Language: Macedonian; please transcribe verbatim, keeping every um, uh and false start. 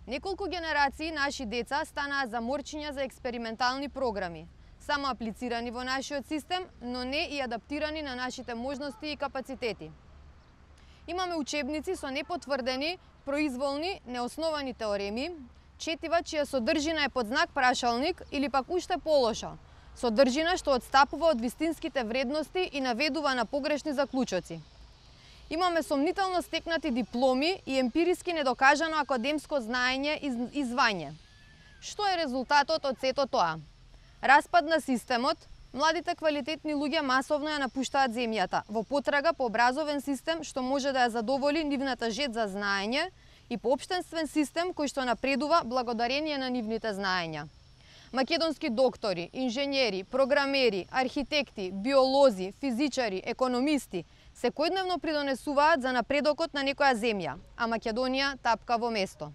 Неколку генерации наши деца станаа заморчиња за експериментални програми, само аплицирани во нашиот систем, но не и адаптирани на нашите можности и капацитети. Имаме учебници со непотврдени, произволни, неосновани теореми, четива чија содржина е под знак прашалник или пак уште полошо, содржина што одстапува од вистинските вредности и наведува на погрешни заклучоци. Имаме сомнително стекнати дипломи и емпириски недокажано академско знаење и звање. Што е резултатот од сето тоа? Распад на системот, младите квалитетни луѓе масовно ја напуштаат земјата во потрага по образовен систем што може да ја задоволи нивната жед за знаење и поопштенствен систем кој што напредува благодарение на нивните знаења. Македонски доктори, инженери, програмери, архитекти, биолози, физичари, економисти секојдневно придонесуваат за напредокот на некоја земја, а Македонија тапка во место.